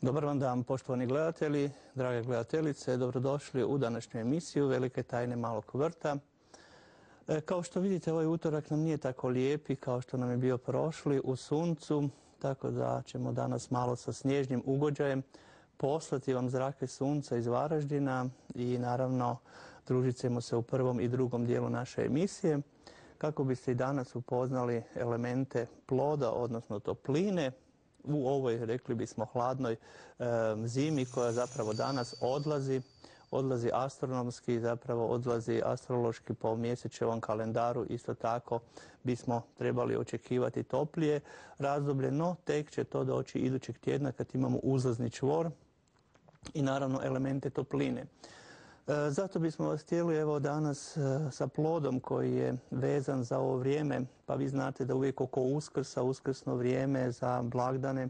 Dobar vam dan, poštovani gledatelji, drage gledateljice, dobrodošli u današnju emisiju Velike tajne malog vrta. Kao što vidite, ovaj utorak nam nije tako lijepi kao što nam je bio prošli u suncu, tako da ćemo danas malo sa snježnim ugođajem poslati vam zrake sunca iz Varaždina i naravno družit ćemo se u prvom i drugom dijelu naše emisije kako biste i danas upoznali elemente ploda, odnosno topline, u ovoj, rekli bismo, hladnoj zimi koja zapravo danas odlazi astronomski, zapravo odlazi astrološki po mjesečevom kalendaru. Isto tako bismo trebali očekivati toplije razdoblje, no tek će to doći idućeg tjedna kad imamo uzlazni čvor i naravno elemente topline. Zato bismo vas htjeli evo danas sa plodom koji je vezan za ovo vrijeme, pa vi znate da uvijek oko Uskrsa, uskrsno vrijeme za blagdane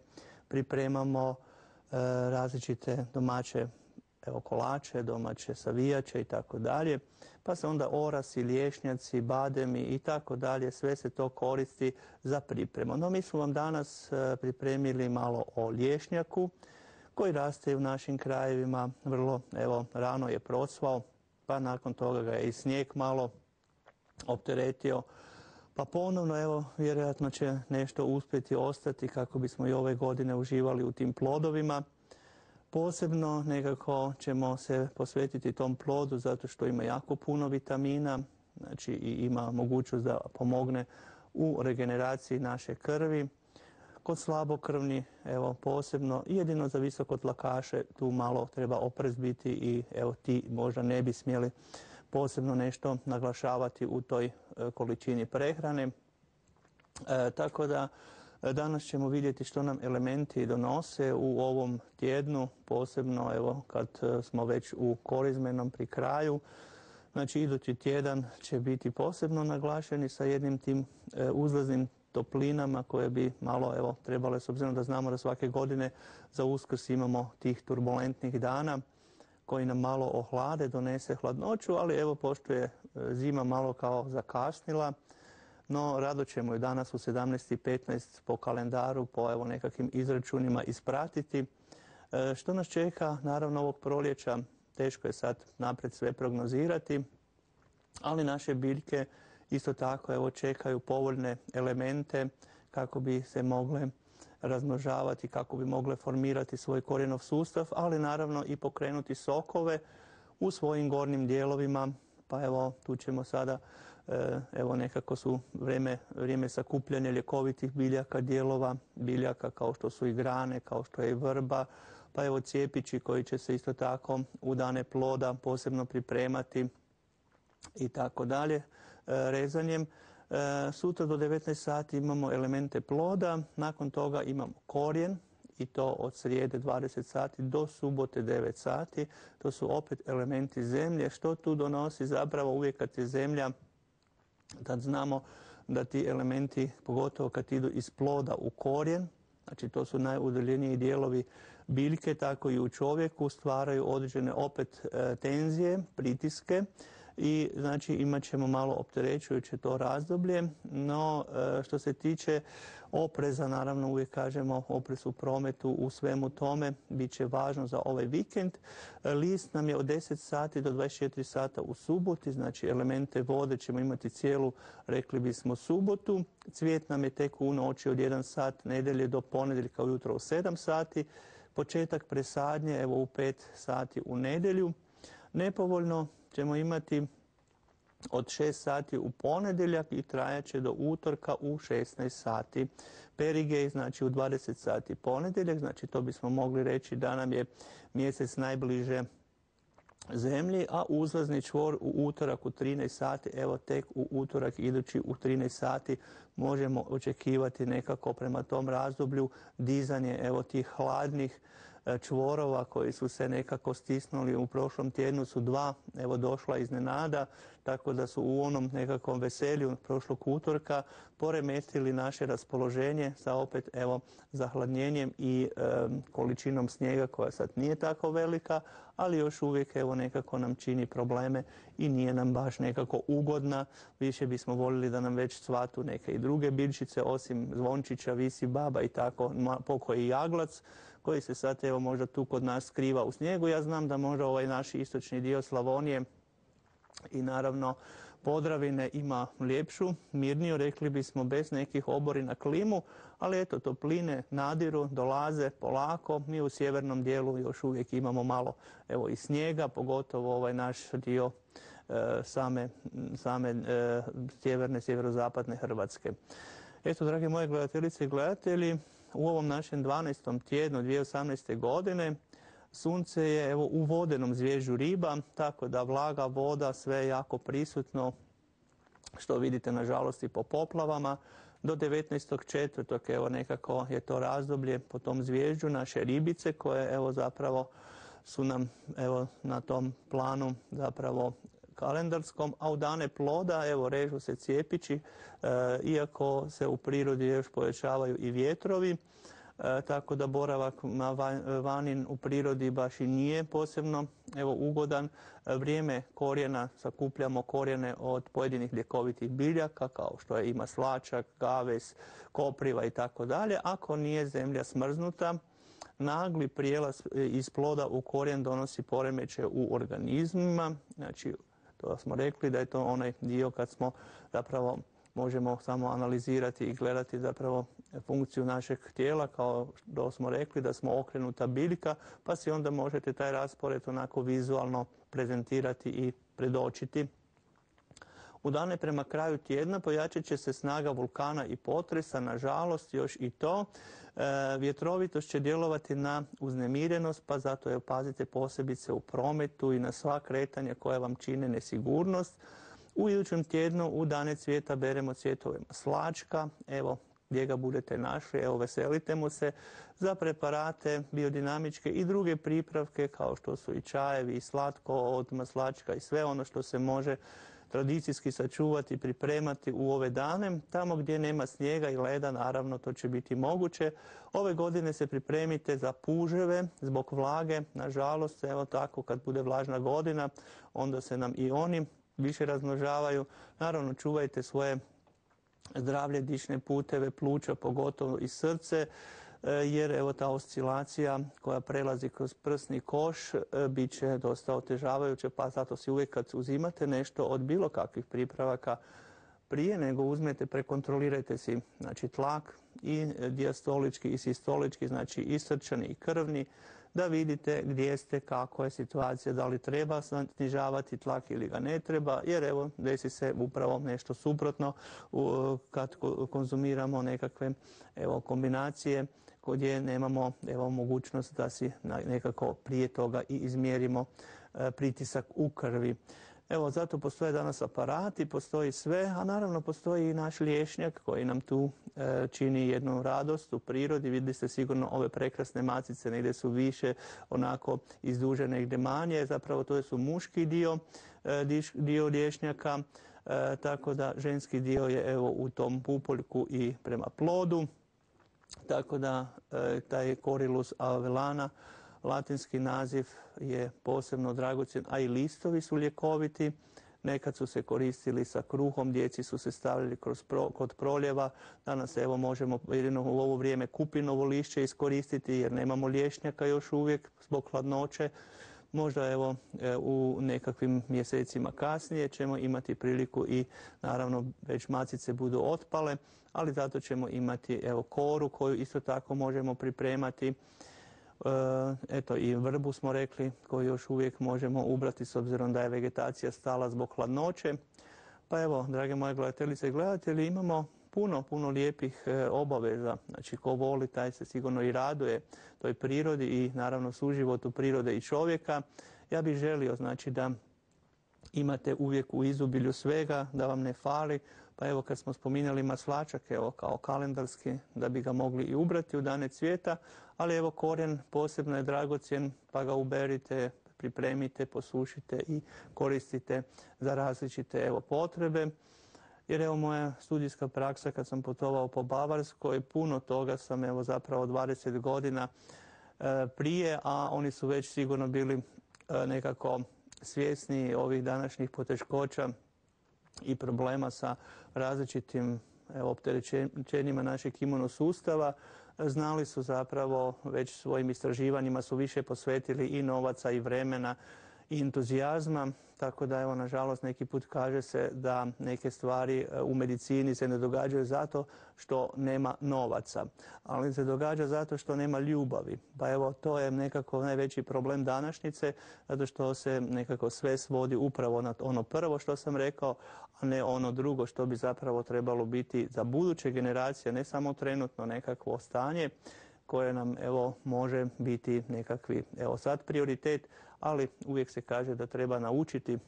pripremamo različite domaće kolače, domaće savijače i tako dalje, pa se onda orasi, lješnjaci, bademi i tako dalje, sve se to koristi za pripremu. No mi smo vam danas pripremili malo o lješnjaku koji raste u našim krajevima, vrlo rano je procvao, pa nakon toga ga je i snijeg malo opteretio, pa ponovno vjerojatno će nešto uspjeti ostati kako bismo i ove godine uživali u tim plodovima. Posebno nekako ćemo se posvetiti tom plodu zato što ima jako puno vitamina, znači i ima mogućnost da pomogne u regeneraciji naše krvi. Kod slabokrvni, posebno, jedino za visokotlakaše tu malo treba oprez biti i ti možda ne bi smjeli posebno nešto naglašavati u toj količini prehrane. Tako da danas ćemo vidjeti što nam elementi donose u ovom tjednu, posebno kad smo već u korizmenom pri kraju. Znači idući tjedan će biti posebno naglašeni sa jednim tim uzlaznim toplinama koje bi malo trebale, s obzirom da znamo da svake godine za Uskrs imamo tih turbulentnih dana koji nam malo ohlade, donese hladnoću, ali pošto je zima malo kao zakasnila, no rado ćemo ju danas u 17:15 po kalendaru, po nekakvim izračunima ispratiti. Što nas čeka, naravno ovog proljeća, teško je sad naprijed sve prognozirati, ali naše biljke isto tako čekaju povoljne elemente kako bi se mogle razmnožavati, kako bi mogle formirati svoj korijenov sustav, ali naravno i pokrenuti sokove u svojim gornjim dijelovima. Pa tu ćemo sada, nekako su vrijeme sakupljanja ljekovitih biljaka, dijelova biljaka kao što su i grane, kao što je i vrba, pa cijepići koji će se isto tako u dane ploda posebno pripremati i tako dalje, rezanjem. Sutra do 19 sati imamo elemente ploda, nakon toga imamo korijen i to od srijede 20 sati do subote 9 sati. To su opet elementi zemlje. Što tu donosi? Zapravo uvijek kad je zemlja, tad znamo da ti elementi, pogotovo kad idu iz ploda u korijen, znači to su najudaljeniji dijelovi biljke, tako i u čovjeku stvaraju određene opet tenzije, pritiske i znači imat ćemo malo opterećujuće to razdoblje, no što se tiče opreza, naravno uvijek kažemo oprez u prometu, u svemu tome, bit će važno za ovaj vikend. List nam je od 10 sati do 24 sata u suboti, znači elemente vode ćemo imati cijelu, rekli bismo, subotu. Cvijet nam je tek u noći od 1 sat nedjelje do ponedjeljka ujutro u 7 sati. Početak presadnje u 5 sati u nedjelju. Nepovoljno ćemo imati od 6 sati u ponedjeljak i trajaće do utorka u 16 sati. Perigej, znači u 20 sati ponedjeljak, znači to bismo mogli reći da nam je mjesec najbliže zemlji, a uzlazni čvor u utorak u 13 sati, tek u utorak idući u 13 sati možemo očekivati nekako prema tom razdoblju dizanje tih hladnih čvorova koji su se nekako stisnuli u prošlom tjednu, su 2 došla iznenada, tako da su u onom nekakvom veselju prošlog utorka poremetili naše raspoloženje sa opet zahladnjenjem i količinom snijega koja sad nije tako velika, ali još uvijek nekako nam čini probleme i nije nam baš nekako ugodna. Više bismo voljeli da nam već cvatu neke i druge biljčice, osim zvončića, visi baba i tako pokoji jaglac koji se sad evo možda tu kod nas skriva u snijegu. Ja znam da možda ovaj naš istočni dio Slavonije i naravno Podravine ima ljepšu, mirniju, rekli bismo, bez nekih oborina klimu, ali eto, topline nadiru, dolaze polako. Mi u sjevernom dijelu još uvijek imamo malo evo i snijega, pogotovo ovaj naš dio same sjeverne, sjeverozapadne Hrvatske. Eto, drage moje gledateljice i gledatelji, u ovom našem 12. tjednu 2018. godine sunce je evo u vodenom zvježđu Riba, tako da vlaga, voda, sve je jako prisutno, što vidite nažalost i po poplavama. Do 19.4. evo nekako je to razdoblje po tom zvježđu naše ribice koje evo zapravo su nam evo na tom planu zapravo kalendarskom, a u dane ploda evo režu se cjepići, iako se u prirodi još povećavaju i vjetrovi. Tako da boravak vani u prirodi baš i nije posebno evo ugodan. Vrijeme korijena, sakupljamo korijene od pojedinih ljekovitih biljaka kao što je i maslačak, gaves, kopriva i tako dalje. Ako nije zemlja smrznuta, nagli prijelaz iz ploda u korijen donosi poremećaje u organizmima. Znači, to smo rekli da je to onaj dio kad smo zapravo možemo samo analizirati i gledati zapravo funkciju našeg tijela, kao što smo rekli da smo okrenuta biljka, pa si onda možete taj raspored onako vizualno prezentirati i predočiti. U dane prema kraju tjedna pojačat će se snaga vulkana i potresa, nažalost još i to. Vjetrovitost će djelovati na uznemirenost, pa zato je pazite posebice u prometu i na sva kretanja koja vam čine nesigurnost. U idućem tjednu u dane cvijeta beremo cvjetove maslačka, evo gdje ga budete našli, evo veselite mu se. Za preparate biodinamičke i druge pripravke kao što su i čajevi i slatko od maslačka i sve ono što se može tradicijski sačuvati, pripremati u ove dane. Tamo gdje nema snijega i leda, naravno to će biti moguće. Ove godine se pripremite za puževe zbog vlage, nažalost, evo tako kad bude vlažna godina, onda se nam i oni više razmnožavaju. Naravno, čuvajte svoje zdravlje, dišne puteve, pluća, pogotovo i srce, jer evo ta oscilacija koja prelazi kroz prsni koš bit će dosta otežavajuća, pa zato si uvijek kad uzimate nešto od bilo kakvih pripravaka, prije nego uzmete, prekontrolirajte si znači, tlak i dijastolički i sistolički, znači i srčani i krvni, da vidite gdje ste, kako je situacija, da li treba snižavati tlak ili ga ne treba, jer evo desi se upravo nešto suprotno kad konzumiramo nekakve evo, kombinacije gdje nemamo evo, mogućnost da si nekako prije toga i izmjerimo pritisak u krvi. Evo, zato postoje danas aparati, postoji sve, a naravno postoji i naš liječnjak koji nam tu čini jednu radost u prirodi. Vidjeli ste sigurno ove prekrasne macice, negdje su više onako izdužene, negdje manje. Zapravo to su muški dio liječnjaka, tako da ženski dio je evo u tom pupoljku i prema plodu. Tako da taj Corylus avellana, latinski naziv, je posebno dragocjen, a i listovi su ljekoviti. Nekad su se koristili sa kruhom, djeci su se stavljali kod proljeva. Danas evo možemo jedino u ovo vrijeme kupinovo lišće iskoristiti jer nemamo lješnjaka još uvijek zbog hladnoće. Možda evo u nekakvim mjesecima kasnije ćemo imati priliku i naravno već macice budu otpale, ali zato ćemo imati evo koru koju isto tako možemo pripremati. Eto i vrbu smo rekli koju još uvijek možemo ubrati s obzirom da je vegetacija stala zbog hladnoće. Pa evo, drage moje gledateljice i gledatelji, imamo puno lijepih obaveza. Znači, ko voli, taj se sigurno i raduje toj prirodi i naravno suživotu prirode i čovjeka. Ja bih želio, znači, da imate uvijek u izobilju svega, da vam ne fali. Pa evo, kad smo spominjali maslačak, evo, kao kalendarski, da bi ga mogli i ubrati u dane cvijeta, ali evo, korijen posebno je dragocjen, pa ga uberite, pripremite, posušite i koristite za različite evo, potrebe. Jer evo moja studijska praksa kad sam putovao po Bavarskoj, puno toga sam evo zapravo 20 godina prije, a oni su već sigurno bili nekako svjesni ovih današnjih poteškoća i problema sa različitim opterećenjima našeg imunosustava, znali su zapravo već svojim istraživanjima su više posvetili i novaca i vremena i entuzijazma, tako da evo nažalost neki put kaže se da neke stvari u medicini se ne događaju zato što nema novaca, ali se događa zato što nema ljubavi. Pa evo to je nekako najveći problem današnjice, zato što se nekako sve svodi upravo na ono prvo što sam rekao, a ne ono drugo što bi zapravo trebalo biti za buduće generacije, ne samo trenutno nekakvo stanje koje nam evo može biti nekakvi evo sad prioritet, ali uvijek se kaže da treba naučiti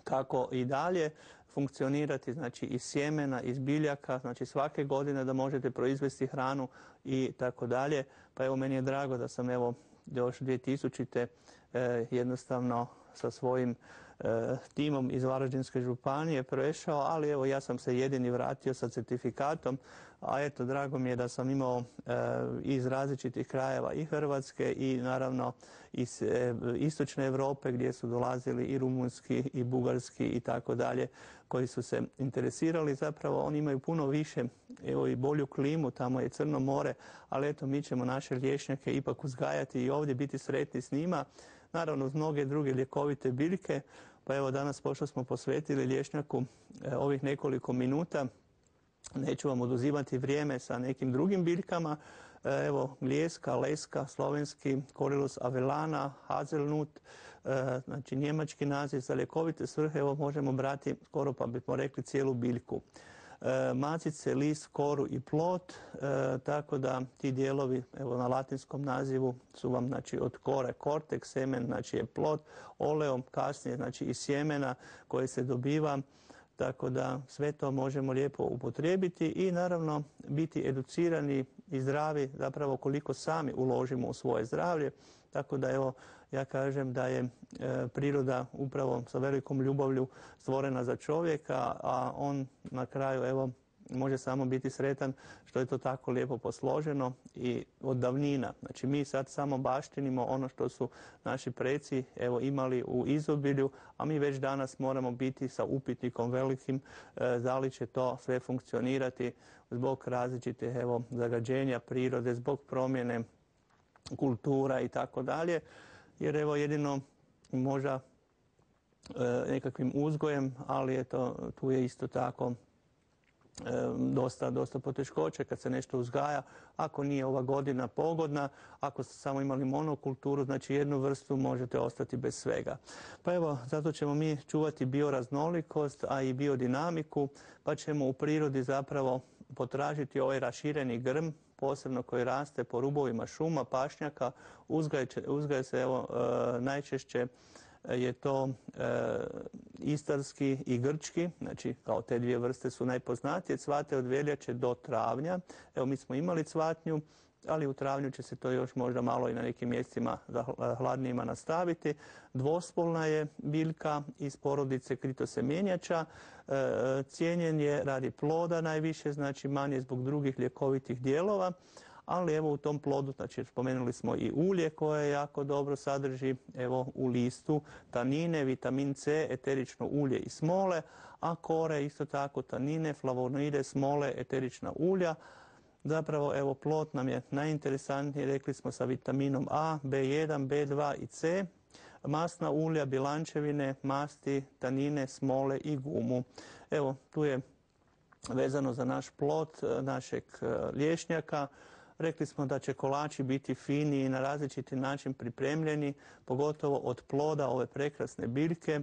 kako i dalje funkcionirati, znači iz sjemena, iz biljaka, znači svake godine da možete proizvesti hranu i tako dalje. Pa evo meni je drago da sam evo još 2000. Jednostavno sa svojim timom iz Varaždinske županije prešao, ali evo ja sam se jedini vratio sa certifikatom, a eto drago mi je da sam imao iz različitih krajeva i Hrvatske i naravno iz istočne Europe gdje su dolazili i rumunski i bugarski i tako dalje, koji su se interesirali. Zapravo oni imaju puno više, evo i bolju klimu, tamo je Crno more, ali eto mi ćemo naše lješnjake ipak uzgajati i ovdje biti sretni s njima. Naravno uz mnoge druge ljekovite biljke, pa evo danas pošto smo posvetili lješnjaku ovih nekoliko minuta, neću vam oduzimati vrijeme sa nekim drugim biljkama. Evo gljeska, leska, slovenski, Corylus avellana, hazelnut, znači njemački naziv za ljekovite svrhe, evo možemo brati skoro pa bismo rekli cijelu biljku. Macice, list, koru i plod, tako da ti dijelovi evo na latinskom nazivu su vam znači od kore kortek, semen znači je plod, oleum kasnije znači iz sjemena koje se dobiva, tako da sve to možemo lijepo upotrijebiti i naravno biti educirani i zdravi zapravo koliko sami uložimo u svoje zdravlje. Tako da evo ja kažem da je priroda upravo sa velikom ljubavlju stvorena za čovjeka, a on na kraju evo može samo biti sretan što je to tako lijepo posloženo i od davnina. Znači mi sad samo baštinimo ono što su naši preci evo imali u izobilju, a mi već danas moramo biti sa upitnikom velikim da li će to sve funkcionirati zbog različitih evo zagađenja prirode, zbog promjene kultura i tako dalje, jer evo jedino možda nekakvim uzgojem, ali eto tu je isto tako dosta poteškoće kad se nešto uzgaja, ako nije ova godina pogodna, ako ste samo imali monokulturu, znači jednu vrstu možete ostati bez svega. Pa evo, zato ćemo mi čuvati bioraznolikost, a i biodinamiku, pa ćemo u prirodi zapravo potražiti ovaj rašireni grm, posebno koji raste po rubovima šuma, pašnjaka, uzgaja se evo najčešće je to istarski i grčki, znači kao te dvije vrste su najpoznatije, cvate od veljače do travnja. Evo mi smo imali cvatnju, ali u travnju će se to još možda malo i na nekim mjestima hladnijima nastaviti. Dvospolna je biljka iz porodice kritosemjenjača, cijenjen je radi ploda najviše, znači manje zbog drugih ljekovitih dijelova, ali evo u tom plodu, znači spomenuli smo i ulje koje jako dobro sadrži, evo u listu tanine, vitamin C, eterično ulje i smole, a kore isto tako tanine, flavonoide, smole, eterična ulja. Zapravo evo plod nam je najinteresantniji, rekli smo sa vitaminom A, B1, B2 i C, masna ulja, bilančevine, masti, tanine, smole i gumu. Evo tu je vezano za naš plod našeg lješnjaka. Rekli smo da će kolači biti fini i na različiti način pripremljeni, pogotovo od ploda ove prekrasne biljke,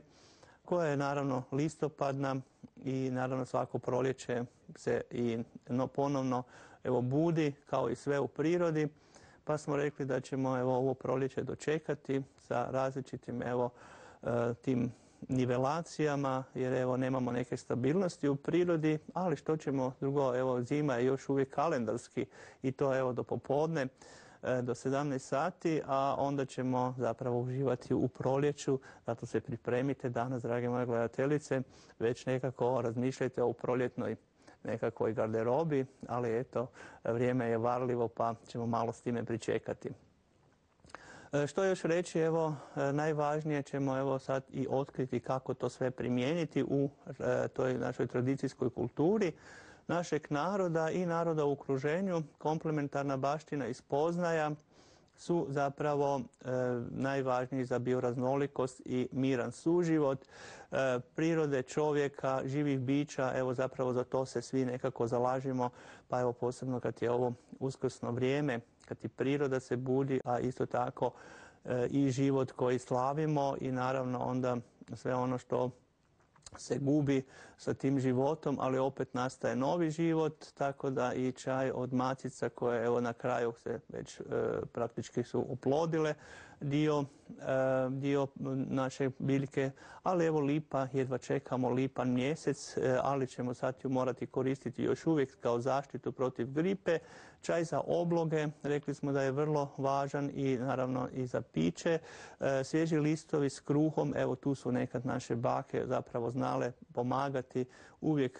koja je naravno listopadna i naravno svako proljeće se i ponovno evo budi kao i sve u prirodi, pa smo rekli da ćemo evo ovo proljeće dočekati sa različitim evo tim nivelacijama, jer evo nemamo neke stabilnosti u prirodi, ali što ćemo drugo, evo zima je još uvijek kalendarski i to evo do popodne do 17 sati, a onda ćemo zapravo uživati u proljeću, zato se pripremite danas, drage moje gledateljice, već nekako razmišljajte o proljetnoj nekakvoj garderobi, ali eto, vrijeme je varljivo pa ćemo malo s time pričekati. Što još reći, evo, najvažnije ćemo evo sad i otkriti kako to sve primijeniti u toj našoj tradicijskoj kulturi. našeg naroda i naroda u okruženju. Komplementarna baština i spoznaja su zapravo najvažniji za bioraznolikost i miran suživot prirode, čovjeka, živih bića. Evo zapravo za to se svi nekako zalažemo, pa evo posebno kad je ovo uskrsno vrijeme, kad i priroda se budi, a isto tako i život koji slavimo i naravno onda sve ono što se gubi sa tim životom, ali opet nastaje novi život, tako da i čaj od macica koje evo na kraju se već praktički su oplodile dio naše biljke, ali evo lipa, jedva čekamo lipan mjesec, ali ćemo sad ju morati koristiti još uvijek kao zaštitu protiv gripe. Čaj za obloge, rekli smo da je vrlo važan i naravno i za piće. Svježi listovi s kruhom, evo tu su nekad naše bake zapravo znale pomagati uvijek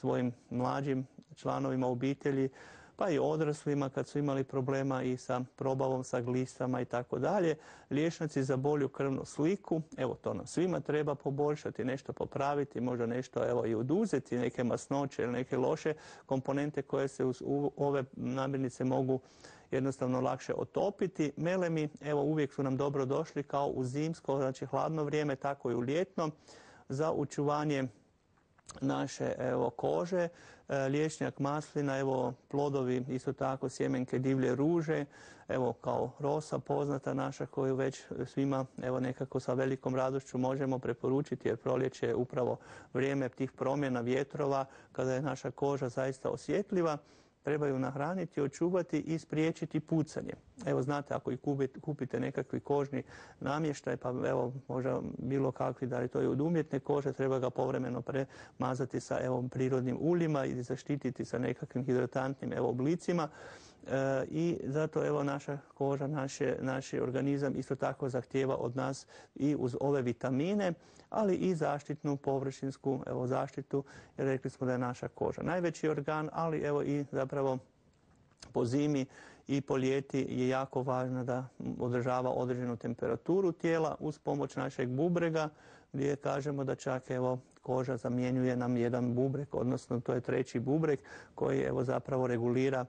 svojim mlađim članovima obitelji, pa i odraslima kad su imali problema i sa probavom, sa glistama i tako dalje. Liječnici za bolju krvnu sliku, evo to nam svima treba poboljšati, nešto popraviti, možda nešto evo i oduzeti, neke masnoće ili neke loše komponente koje se uz ove namirnice mogu jednostavno lakše otopiti. Melemi, evo uvijek su nam dobro došli kao u zimsko, znači hladno vrijeme, tako i u ljetno, za očuvanje naše evo kože. Liječnjak maslina, evo plodovi, isto tako sjemenke divlje ruže, evo kao rosa poznata naša koju već svima evo nekako sa velikom radošću možemo preporučiti, jer proljeće je upravo vrijeme tih promjena vjetrova kada je naša koža zaista osjetljiva. Treba ju nahraniti, očuvati i spriječiti pucanje. Evo znate, ako i kupite nekakvi kožni namještaj, pa evo možda bilo kakvi, da li to je od umjetne kože, treba ga povremeno premazati sa evo prirodnim uljima i zaštititi sa nekakvim hidratantnim evo oblicima. I zato evo naša koža, naš organizam isto tako zahtijeva od nas i uz ove vitamine, ali i zaštitnu površinsku evo zaštitu, jer rekli smo da je naša koža najveći organ, ali evo i zapravo po zimi i po ljeti je jako važno da održava određenu temperaturu tijela uz pomoć našeg bubrega, gdje kažemo da čak evo koža zamjenjuje nam jedan bubreg, odnosno to je treći bubreg koji evo zapravo regulira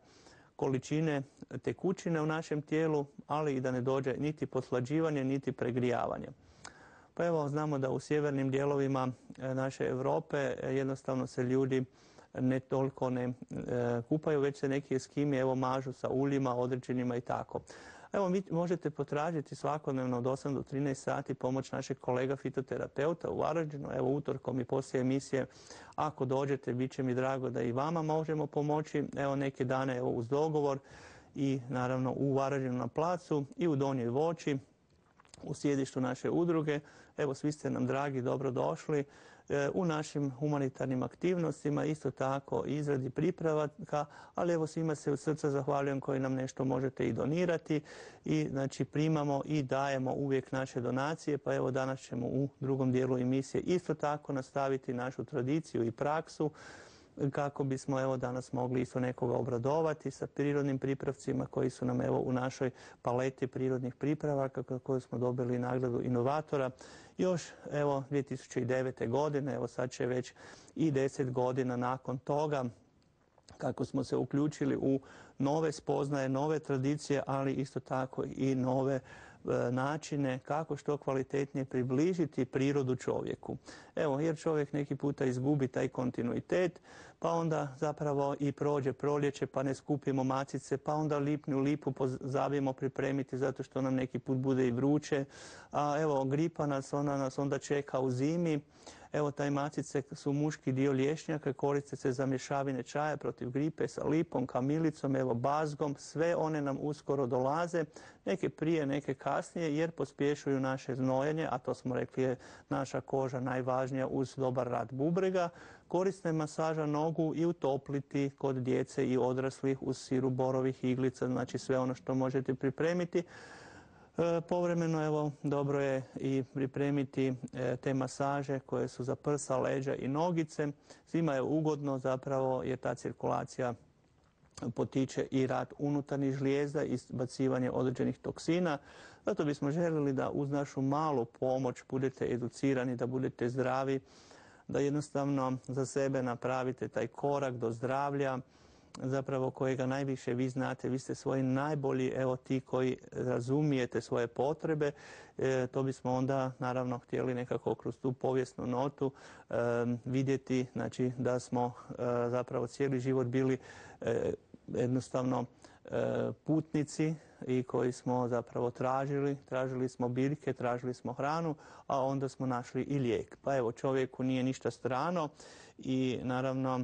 količine tekućine u našem tijelu, ali i da ne dođe niti pothlađivanje, niti pregrijavanje. Pa evo, znamo da u sjevernim dijelovima naše Europe jednostavno se ljudi ne toliko ne kupaju, već se neki eskimi evo mažu sa uljima određenima i tako. Evo, vi možete potražiti svakodnevno od 8 do 13 sati pomoć našeg kolega fitoterapeuta u Varaždinu. Evo, utorkom i poslije emisije, ako dođete, bit će mi drago da i vama možemo pomoći. Evo, neke dane evo, uz dogovor i naravno u Varaždinu na placu i u Donjoj Voći, u sjedištu naše udruge. Evo, svi ste nam dragi, dobro došli u našim humanitarnim aktivnostima, isto tako izradi pripravaka, ali evo svima se od srca zahvaljujem koji nam nešto možete i donirati i znači primamo i dajemo uvijek naše donacije, pa evo danas ćemo u drugom dijelu emisije isto tako nastaviti našu tradiciju i praksu kako bismo evo danas mogli isto nekoga obradovati sa prirodnim pripravcima koji su nam evo u našoj paleti prirodnih pripravaka koju smo dobili nagradu inovatora još evo 2009. godine, evo sad će već i 10 godina nakon toga kako smo se uključili u nove spoznaje, nove tradicije, ali isto tako i nove načine kako što kvalitetnije približiti prirodu čovjeku. Evo, jer čovjek neki puta izgubi taj kontinuitet, pa onda zapravo i prođe proljeće, pa ne skupimo macice, pa onda lipnju lipu pozabijemo pripremiti zato što nam neki put bude i vruće. A evo, gripa nas onda čeka u zimi. Evo, taj macice su muški dio lješnjaka, koriste se za mješavine čaja protiv gripe sa lipom, kamilicom, evo bazgom, sve one nam uskoro dolaze, neke prije, neke kasnije, jer pospješuju naše znojenje, a to smo rekli je naša koža najvažnija uz dobar rad bubrega. Korisna je masaža nogu i utopliti kod djece i odraslih uz sirup borovih iglica, znači sve ono što možete pripremiti. Povremeno evo dobro je i pripremiti te masaže koje su za prsa, leđa i nogice. Svima je ugodno zapravo jer ta cirkulacija potiče i rad unutarnjih žlijezda i izbacivanje određenih toksina. Zato bismo željeli da uz našu malu pomoć budete educirani, da budete zdravi, da jednostavno za sebe napravite taj korak do zdravlja, zapravo kojega najviše vi znate, vi ste svoji najbolji, evo ti koji razumijete svoje potrebe, to bismo onda naravno htjeli nekako kroz tu povijesnu notu vidjeti, znači da smo zapravo cijeli život bili jednostavno putnici i koji smo zapravo tražili smo biljke, tražili smo hranu, a onda smo našli i lijek. Pa evo, čovjeku nije ništa strano i naravno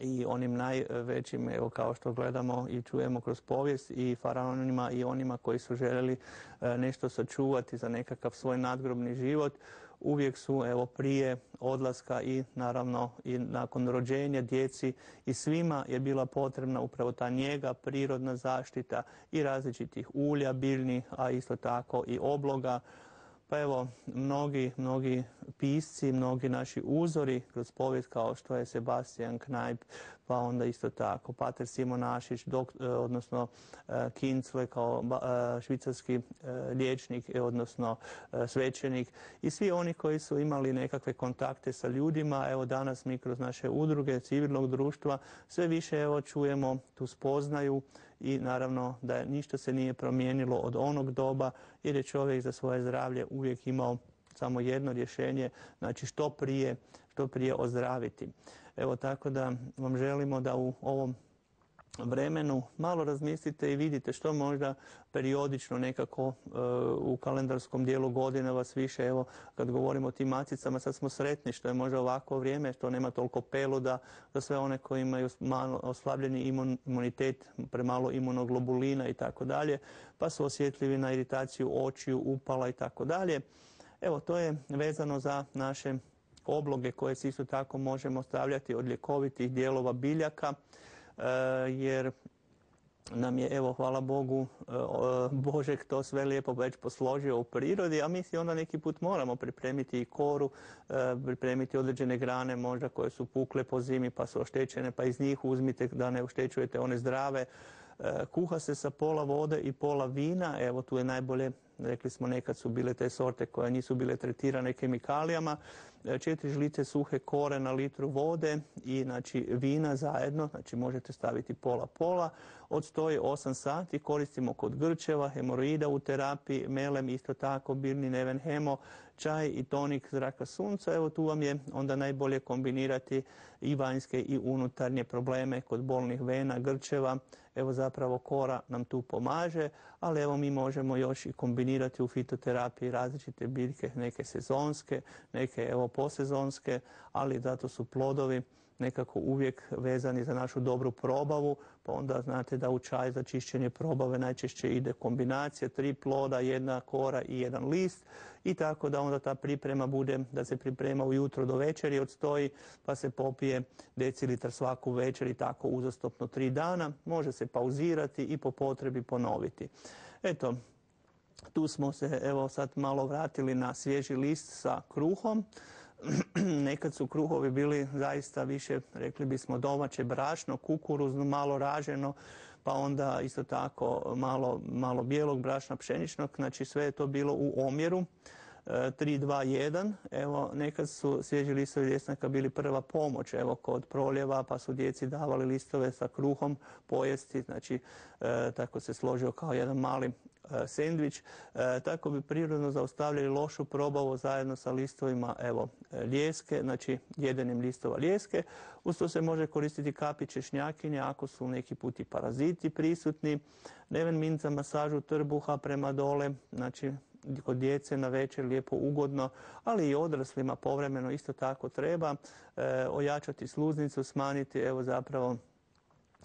i onim najvećim, evo kao što gledamo i čujemo kroz povijest, i faraonima i onima koji su željeli nešto sačuvati za nekakav svoj nadgrobni život, uvijek su evo prije odlaska i naravno i nakon rođenja djeci i svima je bila potrebna upravo ta njega, prirodna zaštita i različitih ulja biljnih, a isto tako i obloga. Pa evo, mnogi pisci, mnogi naši uzori kroz povijest kao što je Sebastian Knajp, pa onda isto tako Pater Simonašić, odnosno Kincle kao švicarski liječnik, odnosno svećenik i svi oni koji su imali nekakve kontakte sa ljudima. Evo danas mi kroz naše udruge civilnog društva sve više evo čujemo tu spoznaju i naravno da ništa se nije promijenilo od onog doba jer je čovjek za svoje zdravlje uvijek imao samo jedno rješenje, znači što prije ozdraviti. Evo tako da vam želimo da u ovom vremenu malo razmislite i vidite što možda periodično nekako u kalendarskom dijelu godine vas više, evo kad govorimo o tim macicama, sad smo sretni što je možda ovako vrijeme, što nema toliko peluda za sve one koji imaju malo oslabljeni imunitet, premalo imunoglobulina i tako dalje, pa su osjetljivi na iritaciju očiju, upala i tako dalje. Evo, to je vezano za naše obloge koje se isto tako možemo stavljati od ljekovitih dijelova biljaka, jer nam je, evo, hvala Bogu, Božek to sve lijepo već posložio u prirodi, a mi si onda neki put moramo pripremiti i koru, pripremiti određene grane možda koje su pukle po zimi pa su oštećene, pa iz njih uzmite da ne oštećujete one zdrave. Kuha se sa pola vode i pola vina, evo tu je najbolje, rekli smo nekad su bile te sorte koje nisu bile tretirane kemikalijama, 4 žlice suhe kore na litru vode i znači vina zajedno, znači možete staviti pola, odstoji 8 sati, koristimo kod grčeva, hemoroida u terapiji, melem isto tako, biljni neven hemo, čaj i tonik zraka sunca, evo tu vam je onda najbolje kombinirati i vanjske i unutarnje probleme kod bolnih vena, grčeva, evo zapravo kora nam tu pomaže, ali evo mi možemo još i kombinirati u fitoterapiji različite biljke, neke sezonske, neke evo posezonske, ali zato su plodovi nekako uvijek vezani za našu dobru probavu, pa onda znate da u čaj za čišćenje probave najčešće ide kombinacija 3 ploda, 1 kora i 1 list i tako da onda ta priprema bude da se priprema ujutro do večeri odstoji, pa se popije decilitar svaku večer i tako uzastopno 3 dana. Može se pauzirati i po potrebi ponoviti. Eto, tu smo se evo sad malo vratili na svježi list sa kruhom. Nekad su kruhovi bili zaista više, rekli bismo, domaće brašno, kukuruzno, malo raženo, pa onda isto tako malo bijelog brašna pšeničnog, znači sve je to bilo u omjeru 3:2:1. Evo, nekad su svježi listovi ljesnaka bili prva pomoć, evo kod proljeva, pa su djeci davali listove sa kruhom pojesti, znači tako se složio kao jedan mali sendvič, tako bi prirodno zaustavljali lošu probavu zajedno sa listovima evo lijeske, znači jedenim listova lijeske. Uz to se može koristiti kapi češnjakinje ako su neki puti paraziti prisutni, neven mint za masažu trbuha prema dole, znači kod djece na večer lijepo ugodno, ali i odraslima povremeno isto tako treba ojačati sluznicu, smanjiti evo zapravo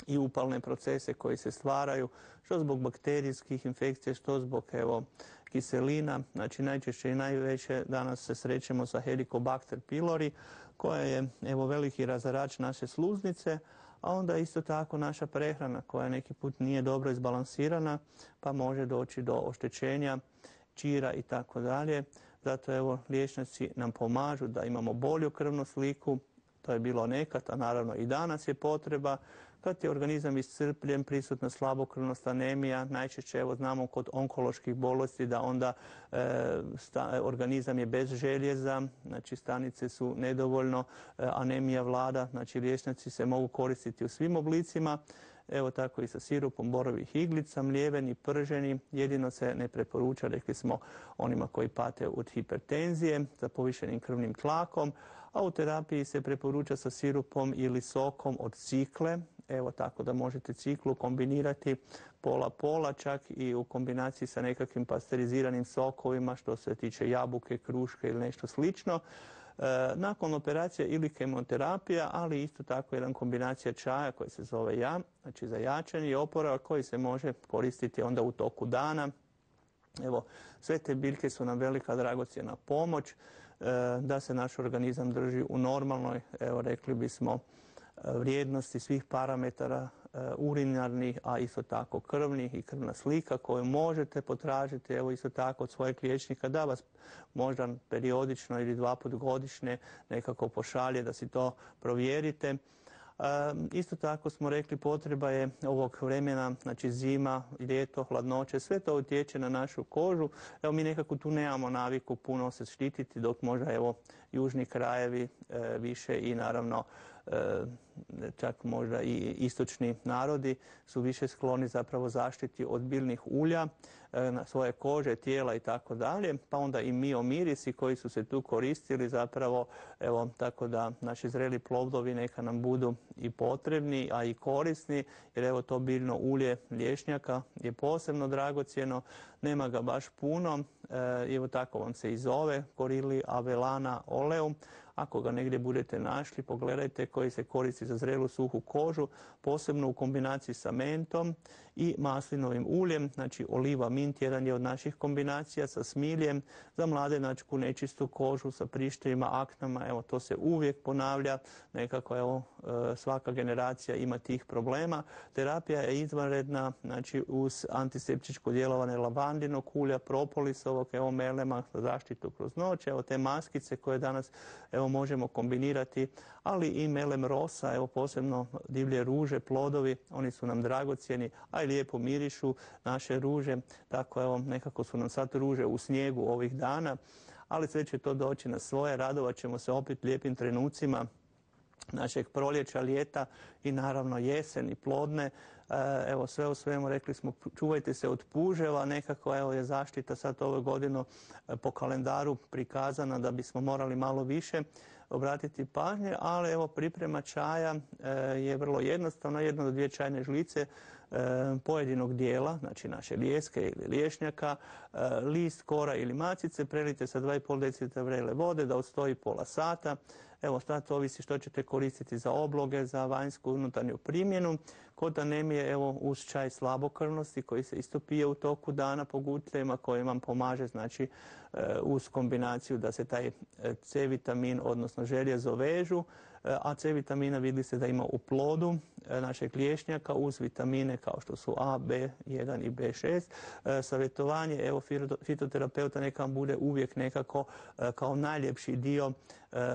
i upalne procese koji se stvaraju, što zbog bakterijskih infekcija, što zbog evo kiselina, znači najčešće i najveće danas se srećemo sa Helicobacter pylori, koja je evo veliki razarač naše sluznice, a onda isto tako naša prehrana koja neki put nije dobro izbalansirana, pa može doći do oštećenja čira i tako dalje. Zato evo liječnici nam pomažu da imamo bolju krvnu sliku, to je bilo nekad, a naravno i danas je potreba. Kad je organizam iscrpljen, prisutna slabokrvnost, anemija, najčešće evo znamo kod onkoloških bolesti da onda organizam je bez željeza, znači stanice su nedovoljno, anemija vlada, znači liječnici se mogu koristiti u svim oblicima. Evo tako i sa sirupom borovih iglica, mljeveni, prženi, jedino se ne preporuča, rekli smo, onima koji pate od hipertenzije, za povišenim krvnim tlakom, a u terapiji se preporuča sa sirupom ili sokom od cikle, evo tako da možete ciklu kombinirati pola-pola, čak i u kombinaciji sa nekakvim pasteriziranim sokovima što se tiče jabuke, kruške ili nešto slično. Nakon operacije ili kemoterapija, ali isto tako jedan kombinacija čaja koji se zove jam, znači za jačanje i oporavak koji se može koristiti onda u toku dana. Evo, sve te biljke su nam velika dragocjena pomoć da se naš organizam drži u normalnoj, evo rekli bismo, vrijednosti svih parametara urinarnih, a isto tako krvnih i krvna slika koju možete potražiti, evo isto tako od svojeg liječnika da vas možda periodično ili 2 puta godišnje nekako pošalje da si to provjerite. Isto tako smo rekli potreba je ovog vremena, znači zima, ljeto, hladnoće, sve to utječe na našu kožu. Evo mi nekako tu nemamo naviku puno se štititi, dok možda evo južni krajevi više i naravno čak možda i istočni narodi su više skloni zapravo zaštiti od biljnih ulja na svoje kože, tijela i tako dalje, pa onda i miomirisi koji su se tu koristili zapravo, evo tako da naši zreli plodovi neka nam budu i potrebni, a i korisni, jer evo to biljno ulje lješnjaka je posebno dragocjeno, nema ga baš puno, evo tako vam se i zove, Corylli avellana oleum. Ako ga negdje budete našli, pogledajte, koji se koristi za zrelu suhu kožu, posebno u kombinaciji sa mentom i maslinovim uljem, znači oliva mint jedan je od naših kombinacija sa smiljem, za mladenačku nečistu kožu sa prištevima, aknama, evo to se uvijek ponavlja, nekako evo svaka generacija ima tih problema. Terapija je izvanredna, znači uz antiseptičko djelovanje lavandinog ulja, propolisovog, evo melema za zaštitu kroz noć, evo te maskice koje danas evo možemo kombinirati, ali i melem rosa, evo posebno divlje ruže, plodovi, oni su nam dragocjeni, a i lijepo mirišu naše ruže, tako evo nekako su nam sad ruže u snijegu ovih dana, ali sve će to doći na svoje, radovat ćemo se opet lijepim trenucima našeg proljeća, ljeta i naravno jesen i plodne. Evo sve u svemu rekli smo čuvajte se od puževa, nekako evo je zaštita sad ove godine po kalendaru prikazana da bismo morali malo više obratiti pažnje, ali evo priprema čaja je vrlo jednostavna, 1 do 2 čajne žlice pojedinog dijela, znači naše lijeske ili liješnjaka, list, kora ili macice, prelite sa 2,5 decilitra vrele vode da odstoji pola sata. Evo sad ovisi što ćete koristiti za obloge, za vanjsku unutarnju primjenu. Kod anemije evo uz čaj slabokrvnosti koji se isto pije u toku dana po gutljajima koji vam pomaže znači uz kombinaciju da se taj C vitamin odnosno željezo vežu, a C vitamina vidi se da ima u plodu našeg liješnjaka uz vitamine kao što su A, B1 i B6. Savjetovanje evo fitoterapeuta neka vam bude uvijek nekako kao najljepši dio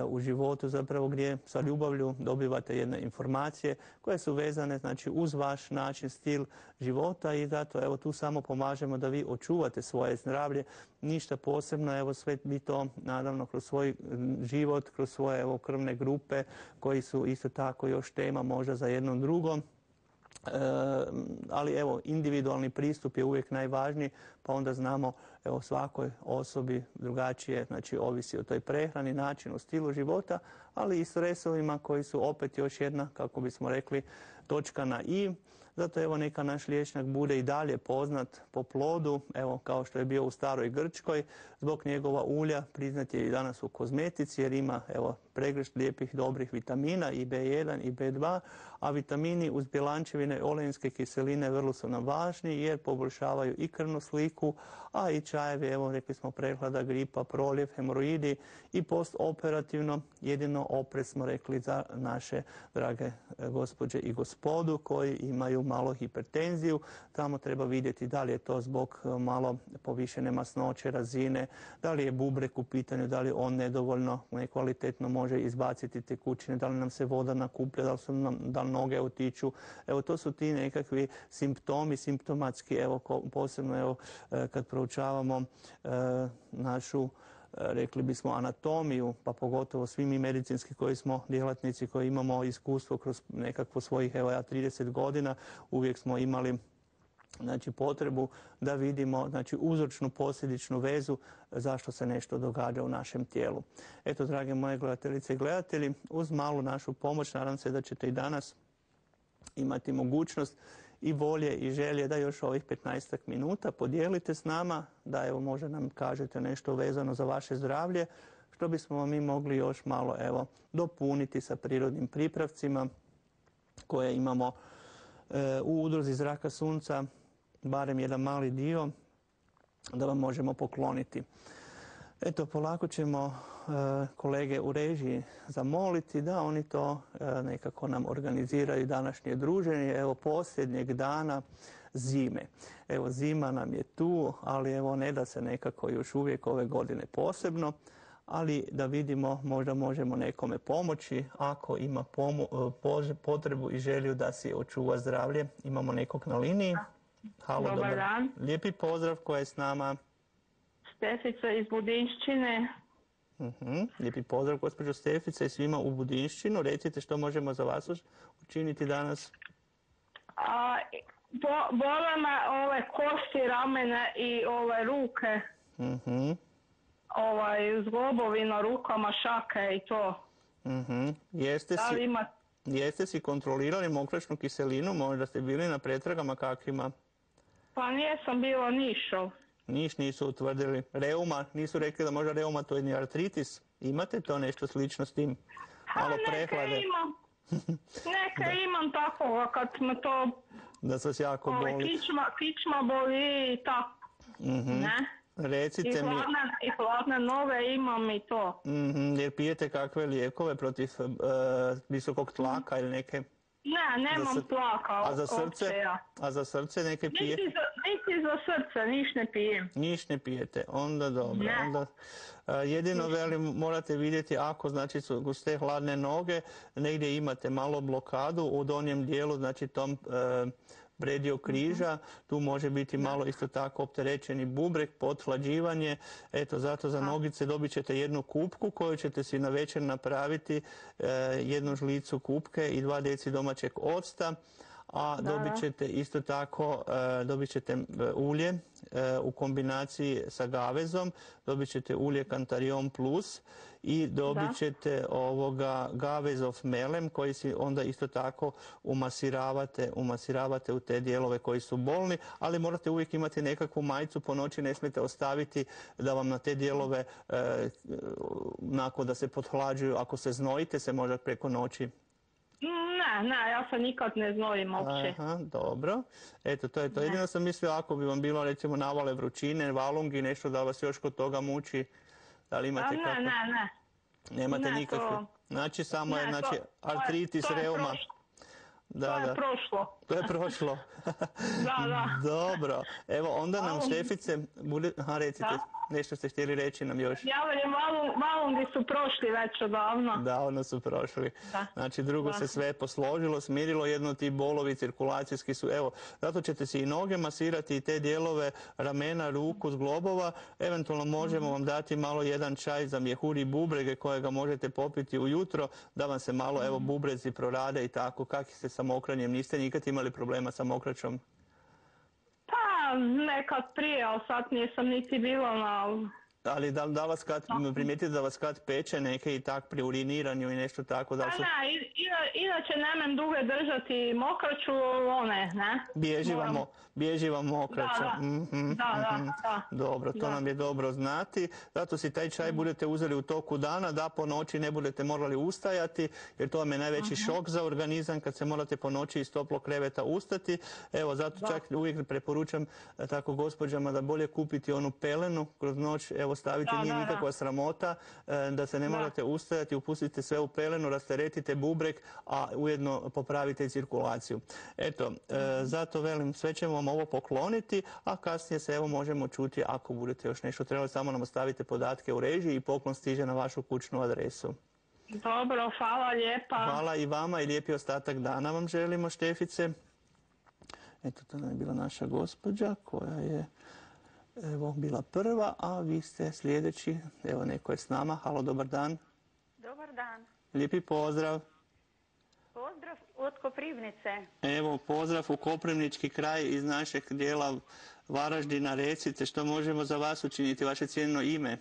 u životu zapravo gdje sa ljubavlju dobivate jedne informacije koje su vezane znači uz vaš način, stil života i zato evo tu samo pomažemo da vi očuvate svoje zdravlje, ništa posebno, evo sve mi to naravno kroz svoj život, kroz svoje evo krvne grupe koji su isto tako još tema možda za jednom drugom. Ali evo individualni pristup je uvijek najvažniji, pa onda znamo evo svakoj osobi drugačije, znači ovisi o toj prehrani, načinu, stilu života, ali i stresovima koji su opet još jedna, kako bismo rekli, točka na i. Zato evo neka naš liječnik bude i dalje poznat po plodu, evo kao što je bio u staroj Grčkoj, zbog njegova ulja priznat je i danas u kozmetici jer ima evo pregršt lijepih dobrih vitamina i B1 i B2, a vitamini uz bjelančevine olejinske kiseline vrlo su nam važni jer poboljšavaju i krvnu sliku, a i čajevi, evo rekli smo prehlada, gripa, proljev, hemoroidi i postoperativno jedino oprez smo rekli za naše drage gospođe i gospodu koji imaju malo hipertenziju. Tamo treba vidjeti da li je to zbog malo povišene masnoće razine, da li je bubrek u pitanju, da li on nedovoljno nekvalitetno može može izbaciti tekućine, da li nam se voda nakuplja, da li noge otiču. Evo, to su ti nekakvi simptomi, simptomatski, evo, posebno evo, kad proučavamo našu, rekli bismo, anatomiju, pa pogotovo svi mi medicinski koji smo djelatnici, koji imamo iskustvo kroz nekakvo svojih, evo ja 30 godina, uvijek smo imali znači potrebu da vidimo znači uzročnu posljedičnu vezu zašto se nešto događa u našem tijelu. Eto, drage moje gledateljice i gledatelji, uz malu našu pomoć nadam se da ćete i danas imati mogućnost i volje i želje da još ovih 15 minuta podijelite s nama, da evo možda nam kažete nešto vezano za vaše zdravlje, što bismo mi mogli još malo evo dopuniti sa prirodnim pripravcima koje imamo u udruzi Zraka sunca, barem jedan mali dio, da vam možemo pokloniti. Eto, polako ćemo kolege u režiji zamoliti da oni to nekako nam organiziraju današnje druženje, evo posljednjeg dana zime. Evo, zima nam je tu, ali evo ne da se nekako još uvijek ove godine posebno, ali da vidimo, možda možemo nekome pomoći ako ima potrebu i želju da si očuva zdravlje. Imamo nekog na liniji. Halo, dobar dan. Lijepi pozdrav, ko je s nama? Stefica iz Budinšćine. Lijepi pozdrav, gospođo Stefica, i svima u Budinšćinu. Recite što možemo za vas učiniti danas. Bole me ove kosti, ramene i ove ruke. Zglobovi na rukama, šake i to. Jeste si kontrolirali mokračnu kiselinu? Možda ste bili na pretragama kakvima? Pa nisam bila nišao. Nisu utvrdili. Reuma, nisu rekli da možda reumatoidni artritis? Imate to nešto slično s tim? Malo prehlade? Neka imam tako, kad me to... Da se jako boli. Kičma boli i tako. Ne? Recite mi... I hladne noge imam i to. Jer pijete kakve lijekove protiv visokog tlaka ili neke... Ne, nemam tlaka. A za srce neke pije? Niti za srce, niš ne pijem. Niš ne pijete, onda dobro. Onda, jedino velim, morate vidjeti ako znači su guste hladne noge, negdje imate malo blokadu u donjem dijelu, znači tom predio križa, tu može biti malo isto tako opterećeni bubreg, pothlađivanje. Eto, zato za nogice dobit ćete jednu kupku koju ćete si na večer napraviti, jednu žlicu kupke i 2 deci domaćeg octa. A dobit ćete isto tako, dobit ćete ulje u kombinaciji sa gavezom, dobit ćete ulje Cantarion Plus i dobit ćete gavezov melem koji si onda isto tako umasiravate u te dijelove koji su bolni, ali morate uvijek imati nekakvu majicu po noći, ne smijete ostaviti da vam na te dijelove, nakon da se pothlađuju, ako se znojite se možda preko noći. Ne, ja se nikad ne znojim uopće. Aha, dobro. Eto, to je to. Jedino sam mislio ako bi vam bilo recimo navale vrućine, valungi, nešto da vas još kod toga muči. Da li imate kako? Ne. Nemate nikakve. Znači samo je artritis, reuma. To je prošlo. To je prošlo. Da. Dobro. Evo, onda nam Štefice bude... recite, nešto ste htjeli reći nam još. Ja velim, valungi su prošli već odavno. Davno su prošli. Znači, drugo se sve posložilo, smirilo, jedno ti bolovi cirkulacijski su... Evo, zato ćete si i noge masirati i te dijelove ramena, ruku, zglobova. Eventualno možemo vam dati malo jedan čaj za mjehuri bubrege kojega možete popiti ujutro, da vam se malo, evo, bubrezi prorade i tako. Kakvi ste sa mokranjem? Niste nikad imali problema sa mokraćom? Pa, nekad prije, ali sad nisam niti bila na... Ali da vas kad primijetite da vas kad peče neke i tak pri uriniranju i nešto tako? Da su... inače nemam duge držati mokraću, ne? Bježi vam mokraća. Da. Dobro, to nam je dobro znati. Zato si taj čaj budete uzeli u toku dana, da po noći ne budete morali ustajati, jer to vam je najveći šok za organizam kad se morate po noći iz toplog kreveta ustati. Evo, zato čak uvijek preporučam tako gospođama da bolje kupiti onu pelenu kroz noć, evo stavite, nije nikakva sramota, da se ne morate ustajati, upustite sve u pelenu, rasteretite bubreg, a ujedno popravite cirkulaciju. Eto, zato velim, sve ćemo vam ovo pokloniti, a kasnije se evo možemo čuti ako budete još nešto trebali, samo nam ostavite podatke u režiji i poklon stiže na vašu kućnu adresu. Dobro, hvala lijepa. Hvala i vama i lijepi ostatak dana vam želimo, Štefice. Eto, to nam je bila naša gospođa koja je evo bila prva, a vi ste sljedeći. Evo, neko je s nama. Halo, dobar dan. Dobar dan. Lijepi pozdrav. Pozdrav od Koprivnice. Evo, pozdrav u Koprivnički kraj iz našeg dijela Varaždina. Recite što možemo za vas učiniti, vaše cijenjeno ime.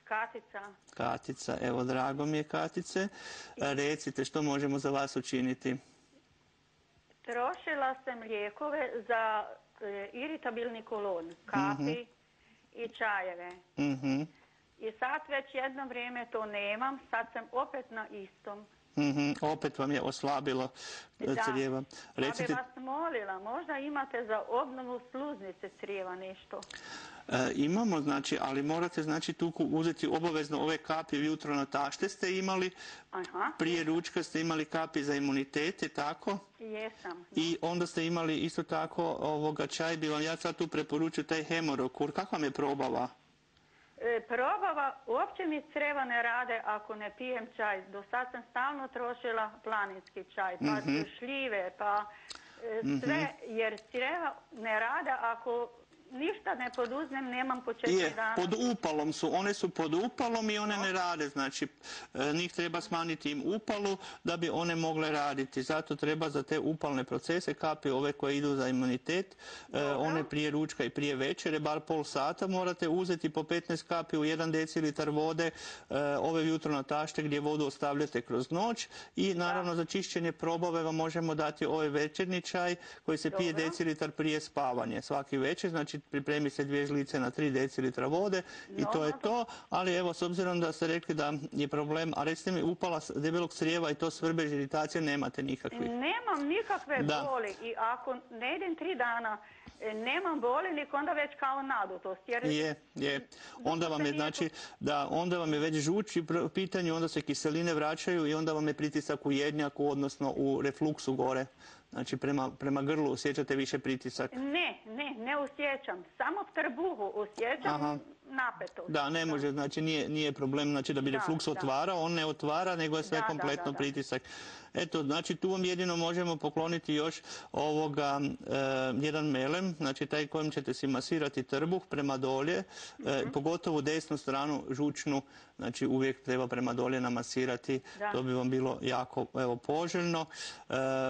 Katica. Katica, evo, drago mi je, Katice. Recite što možemo za vas učiniti. Trošila sam lijekove za iritabilni kolon, kapi i čajeve. I sad već jedno vrijeme to nemam, sad sam opet na istom. Opet vam je oslabilo crijeva. Recite... Ja bih vas molila, možda imate za obnovu sluznice crijeva nešto? Imamo, znači, ali morate, znači, tu uzeti obavezno ove kapi jutro na tašte ste imali. Prije ručka ste imali kapi za imunitete, tako? Jesam. I onda ste imali isto tako čaj, bi vam ja sad tu preporučio taj Hemorokur. Kako vam je probava? Probava, uopće mi crijeva ne rade ako ne pijem čaj. Do sad sam stalno trošila planinski čaj, pa šljive, pa sve, jer crijeva ne rade ako ništa ne poduzmem, nemam po 4 dana. Pod upalom su, one su pod upalom i one ne rade, znači njih treba smanjiti im upalu da bi one mogle raditi. Zato treba za te upalne procese kapi ove koje idu za imunitet, one prije ručka i prije večere, bar pol sata morate uzeti po 15 kapi u 1 decilitar vode, ove jutro na tašte gdje vodu ostavljate kroz noć i naravno za čišćenje probave vam možemo dati ovaj večernji čaj koji se pije decilitar prije spavanja svaki večer, znači pripremi se 2 žlice na 3 decilitra vode i to je to, ali evo s obzirom da ste rekli da je problem, a recite mi upala debelog crijeva i to svrbež, iritacije nemate nikakvih? Nemam nikakve boli i ako ne idem 3 dana nemam boli, nik onda već kao nadutost. Je. Onda vam je, znači, da, onda vam je već žuč u pitanju, onda se kiseline vraćaju i onda vam je pritisak u jednjaku, odnosno u refluksu gore. Znači, prema grlu osjećate više pritisak? Ne osjećam. Samo v trbuhu osjećam napetost. Da, ne može, znači nije problem, znači da bi refluks otvarao, on ne otvara, nego je sve kompletno pritisak. Eto, znači tu vam jedino možemo pokloniti još jedan melem, znači taj kojim ćete si masirati trbuh prema dolje, pogotovo desnu stranu žučnu, znači uvijek treba prema dolje namasirati, to bi vam bilo jako poželjno.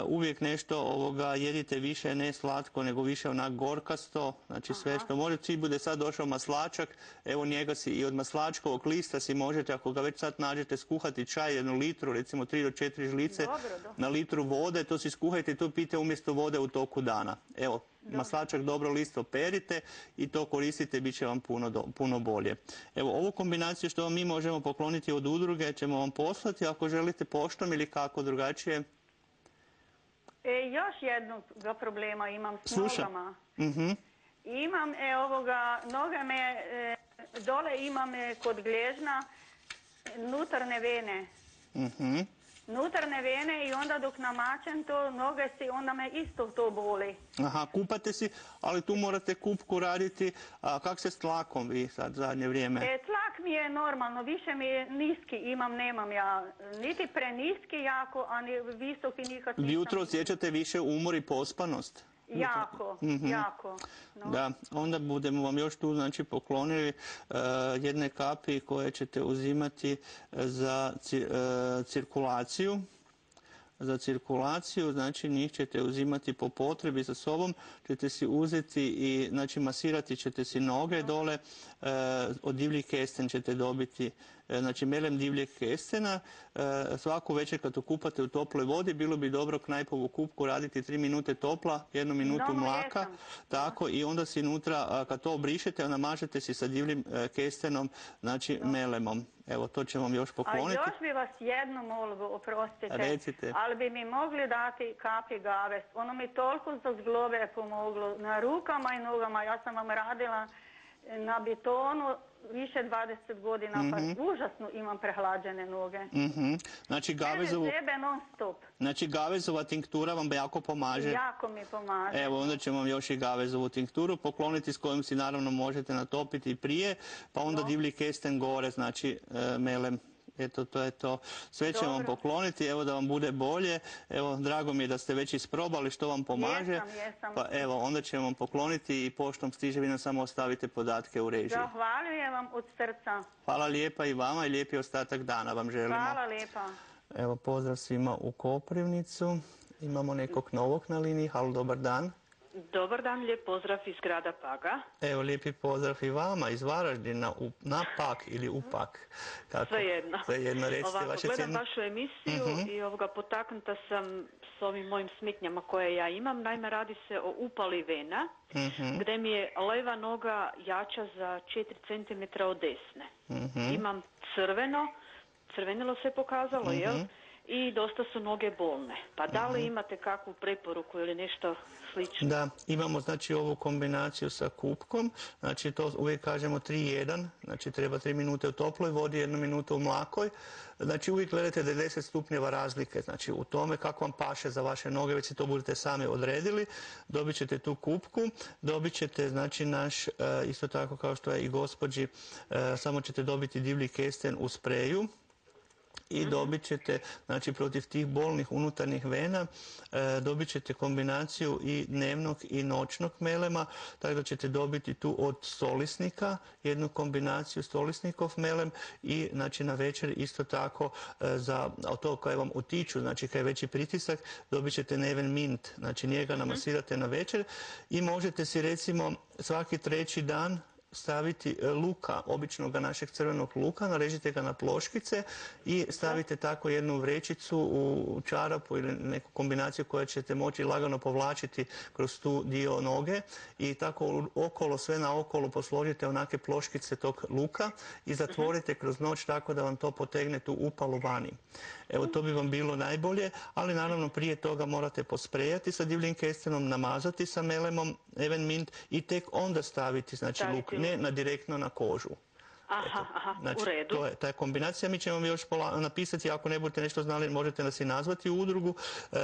Uvijek nešto jedite više, ne slatko, nego više onak gorkasto, znači sve što može. Cilj bude sad došao maslačak, evo njega si i od maslačkovog lista si možete, ako ga već sad nađete, skuhati čaj 1 litru, recimo 3 do 4 žlice na litru vode, to si skuhajte i to pijte umjesto vode u toku dana. Evo, maslačak dobro listo perite i to koristite, bit će vam puno bolje. Evo, ovu kombinaciju što vam mi možemo pokloniti od udruge ćemo vam poslati, ako želite poštom ili kako drugačije. Još jednog problema imam s nogama. Imam noge me, dole imam kod gležna nutarne vene. Nutarne vene i onda dok namačem to noge si, onda me isto to boli. Kupate si, ali tu morate kupku raditi. Kak se s tlakom vi sad zadnje vrijeme? Tlak mi je normalno, više mi je niski, nemam ja niti preniski jako, a ni visoki nikad nisam. Jutro osjećate više umor i pospanost? Jako. Da, onda budemo vam još tu znači poklonili jedne kapi koje ćete uzimati za cirkulaciju. Za cirkulaciju, znači njih ćete uzimati po potrebi sa sobom, ćete si uzeti i znači masirati ćete si noge dole, od divljih kesten ćete dobiti, znači melem divljeg kestena, svaku večer kad okupate u toploj vodi, bilo bi dobro knajpovu kupku raditi 3 minute topla, 1 minutu mlaka, tako i onda si unutra, kad to obrišete, onda mažete si sa divljim kestenom, znači melemom. Evo, to ćemo vam još pokloniti. A još bi vas jednu molbu, oprostite. Recite. Ali bi mi mogli dati kapi gaves. Ono mi toliko za zglobe pomoglo. Na rukama i nogama. Ja sam vam radila na betonu više 20 godina, pa užasno imam prehlađene noge. Znači, non stop. Znači, gavezova tinktura vam jako pomaže? Jako mi pomaže. Evo, onda ćemo vam još i gavezovu tinkturu pokloniti s kojom si naravno možete natopiti prije, pa onda divlji kesten gore, znači melem Eto, to je to. Sve ćemo vam pokloniti, evo da vam bude bolje. Evo, drago mi je da ste već isprobali što vam pomaže. Jesam. Pa evo, onda ćemo vam pokloniti i poštom stiže, vi nam samo ostavite podatke u režiji. Zahvaljujem vam od srca. Hvala lijepa i vama i lijepi ostatak dana vam želimo. Hvala lijepa. Evo, pozdrav svima u Koprivnicu. Imamo nekog novog na liniji. Halo, dobar dan. Dobar dan, lijep pozdrav iz grada Paga. Evo, lijepi pozdrav i vama iz Varaždina na Pag ili u Pag. Svejedno. Svejedno, recite vaše gledam vašu emisiju i potaknuta sam s ovim mojim smetnjama koje ja imam. Naime, radi se o upali vena, gdje mi je leva noga jača za 4 cm od desne. Imam crvenilo se pokazalo, jel? I dosta su noge bolne. Pa da li imate kakvu preporuku ili nešto slično? Da, imamo znači ovu kombinaciju sa kupkom, znači to uvijek kažemo 3-1, znači treba 3 minute u toploj vodi, 1 minuta u mlakoj. Znači uvijek gledate da je 10 stupnjeva razlike, znači u tome kako vam paše za vaše noge, već si to budete sami odredili, dobit ćete tu kupku, dobit ćete znači naš, isto tako kao što je i gospođi, samo ćete dobiti divlji kesten u spreju. I dobit ćete, znači protiv tih bolnih unutarnjih vena, dobit ćete kombinaciju i dnevnog i noćnog melema, tako da ćete dobiti tu od stolisnika, jednu kombinaciju stolisnikov melem i znači na večer isto tako za to koje vam utiču, znači kad je veći pritisak, dobit ćete Neven Mint, znači njega namasirate na večer i možete si recimo svaki 3. dan staviti luka, običnog našeg crvenog luka, narežite ga na ploškice i stavite tako jednu vrećicu u čarapu ili neku kombinaciju koju ćete moći lagano povlačiti kroz tu dio noge i tako okolo, sve naokolo posložite onake ploškice tog luka i zatvorite kroz noć tako da vam to potegne tu upalu vani. Evo, to bi vam bilo najbolje, ali naravno prije toga morate posprejati sa divljim kestenom, namazati sa melemom Neven Mint i tek onda staviti znači luk, ne direktno na kožu. Znači, u redu. To je ta kombinacija. Mi ćemo vam još napisati, ako ne budete nešto znali, možete nas i nazvati u udrugu,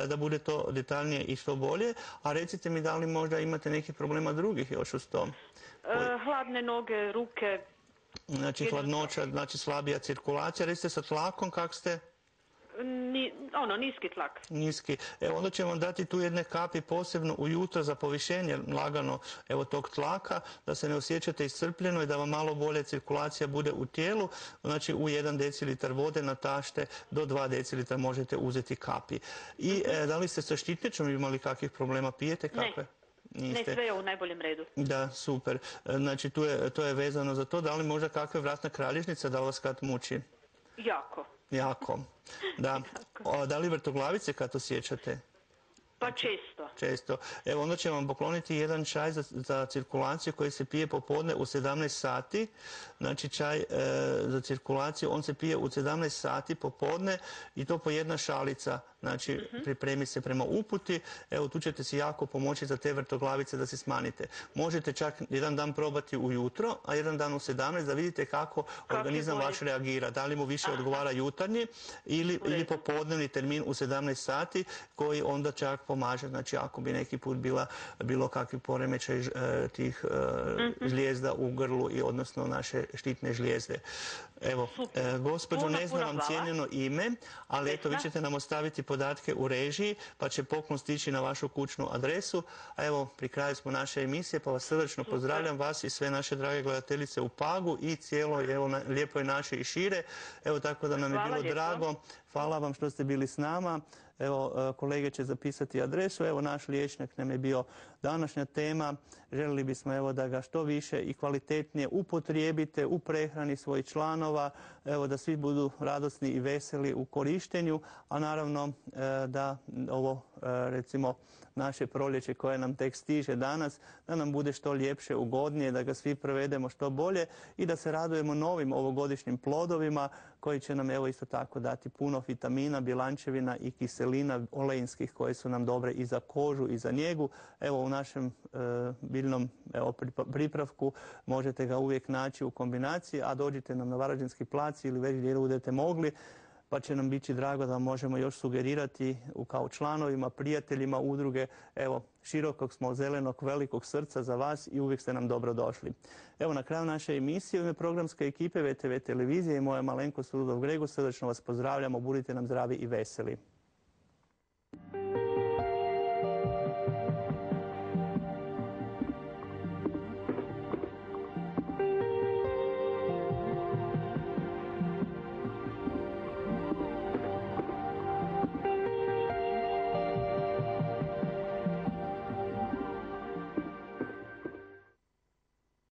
da bude to detaljnije i što bolje. A recite mi da li možda imate nekih problema drugih još uz to? Hladne noge, ruke. Znači hladnoća, znači slabija cirkulacija. Recite sa tlakom, kak ste? Niski tlak. Niski. Evo, onda ćemo vam dati tu jedne kapi posebno ujutro za povišenje lagano evo tog tlaka, da se ne osjećate iscrpljeno i da vam malo bolje cirkulacija bude u tijelu. Znači u 1 decilitar vode natašte do 2 decilitra možete uzeti kapi. I da li ste sa štitnjačom imali kakvih problema? Pijete kakve? Ne, sve je u najboljem redu. Da, super. Znači to je vezano za to. Da li možda kakve vratna kralježnica, da li vas kad muči? Jako. Da. Da li vrtoglavice kad osjećate? Pa često. Često. Evo, onda ćemo vam pokloniti jedan čaj za cirkulaciju koji se pije popodne u 17 sati. Znači čaj za cirkulaciju, on se pije u 17 sati popodne i to po 1 šalica. Znači, pripremi se prema uputi. Evo, tu ćete si jako pomoći za te vrtoglavice da se smanjite. Možete čak 1 dan probati ujutro, a 1 dan u 17 da vidite kako organizam vaš reagira. Da li mu više odgovara jutarnji ili popodnevni termin u 17 sati koji onda čak pomaže. Znači, ako bi neki put bilo kakvi poremećaj tih žlijezda u grlu i odnosno naše štitne žlijezde. Evo, gospođo, ne znam vam cijenjeno ime, ali eto, vi ćete nam ostaviti podatke u režiji, pa će poklon stići na vašu kućnu adresu. A evo, pri kraju smo naše emisije, pa vas srdačno pozdravljam, vas i sve naše drage gledateljice u Pagu i cijeloj lijepoj našoj i šire. Evo, tako da nam je bilo drago. Hvala vam što ste bili s nama. Evo, kolege će zapisati adresu. Evo, naš liječnik nam je bio današnja tema. Željeli bismo evo da ga što više i kvalitetnije upotrijebite u prehrani svojih članova, evo da svi budu radosni i veseli u korištenju, a naravno da ovo recimo naše proljeće koje nam tek stiže danas, da nam bude što ljepše, ugodnije, da ga svi provedemo što bolje i da se radujemo novim ovogodišnjim plodovima koji će nam evo isto tako dati puno vitamina, bilančevina i kiselina olejinskih koje su nam dobre i za kožu i za njegu. Evo u našem biljnom pripravku možete ga uvijek naći u kombinaciji, a dođite nam na Varaždinski plac ili već gdje budete mogli, pa će nam biti drago da možemo još sugerirati kao članovima, prijateljima udruge. Evo, širokog smo, zelenog, velikog srca za vas i uvijek ste nam dobro došli. Evo, na kraju naše emisije u ime programske ekipe VTV televizije i moja malenkost Rudolf Grego srdačno vas pozdravljamo. Budite nam zdravi i veseli.